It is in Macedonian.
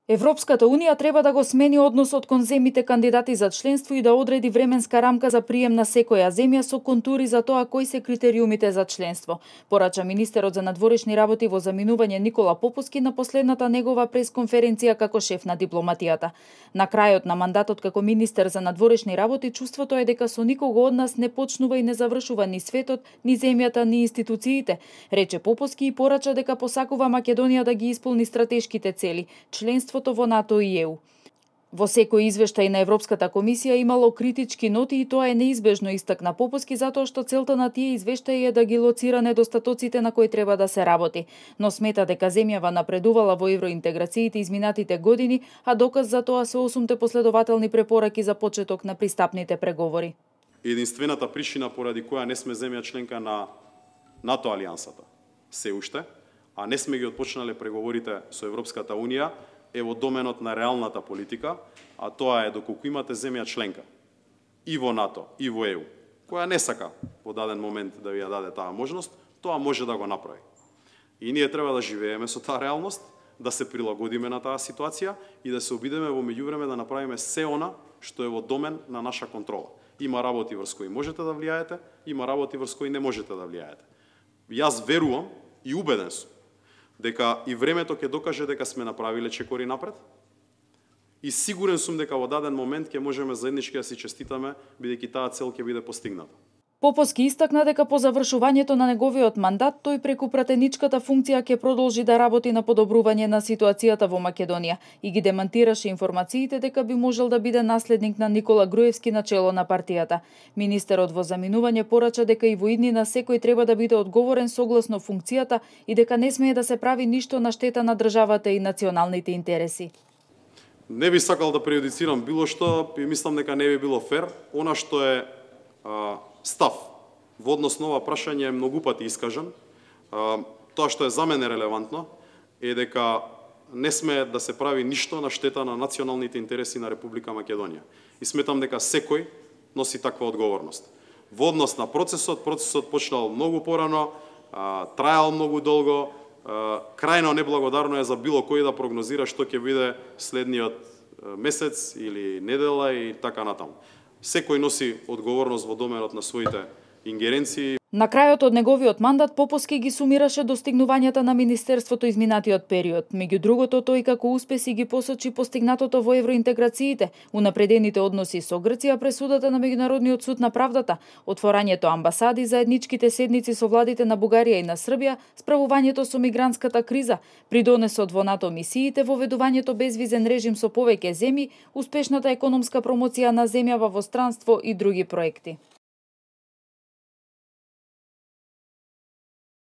Европската Унија треба да го смени односот кон земјите кандидати за членство и да одреди временска рамка за прием на секоја земја со контури за тоа кои се критериумите за членство, порача министерот за надворешни работи во заминување Никола Поповски на последната негова пресконференција како шеф на дипломатијата. На крајот на мандатот како министер за надворешни работи чувството е дека со никого од нас не почнува и не завршува ни светот, ни земјата, ни институциите, рече Поповски и порача дека посакува Македонија да ги исполни стратешките цели, членство во НАТО и ЕУ. Во секој извештај на Европската комисија имало критички ноти и тоа е неизбежно, изтакна Поповски, затоа што целта на тие извештаи е да ги лоцира недостатоците на кои треба да се работи, но смета дека земјава напредувала во евроинтеграциите изминатите години, а доказ за тоа се 8 последователни препораки за почеток на пристапните преговори. Единствената причина поради која не сме земја членка на НАТО алијансата се уште, а не сме ги отпочнале преговорите со Европската Унија, е во доменот на реалната политика, а тоа е доколку имате земја членка и во НАТО, и во ЕУ, која не сака во даден момент да ви ја даде таа можност, тоа може да го направи. И ние треба да живееме со таа реалност, да се прилагодиме на таа ситуација и да се обидеме во меѓувреме да направиме се она што е во домен на наша контрола. Има работи врз кои можете да влијаете, има работи врз кои не можете да влијаете. Јас верувам и убеден сум дека и времето ќе докаже дека сме направиле чекори напред и сигурен сум дека во даден момент ќе можеме заеднички да си честитаме, бидејќи таа цел ќе биде постигната. Поповски истакна дека по завршувањето на неговиот мандат тој преку пратеничката функција ќе продолжи да работи на подобрување на ситуацијата во Македонија и ги демантираше информациите дека би можел да биде наследник на Никола Груевски на чело на партијата. Министерот во заминување порача дека и во иднина секој треба да биде одговорен согласно функцијата и дека не смее да се прави ништо на штета на државата и националните интереси. Не би сакал да преюдицирам било што и мислам дека не би било фер. Она што е став во однос на ова прашање е многу пати искажан. Тоа што е за мене релевантно е дека не сме да се прави ништо на штета на националните интереси на Република Македонија. И сметам дека секој носи таква одговорност. Во однос на процесот почнал многу порано, трајал многу долго, крајно неблагодарно е за било кој да прогнозира што ќе биде следниот месец или недела и така натаму. Секој носи одговорност во доменот на своите ингеренции. На крајот од неговиот мандат Поповски ги сумираше достигнувањата на министерството изминатиот период. Меѓу другото, тој како успеси ги посочи постигнатото во евроинтеграциите, унапредените односи со Грција, пресудата на Меѓународниот суд на правдата, отворањето амбасади, заедничките седници со владите на Бугарија и на Србија, справувањето со мигрантската криза, придонесот во НАТО мисиите, воведувањето безвизен режим со повеќе земји, успешната економска промоција на земјава во странство и други проекти.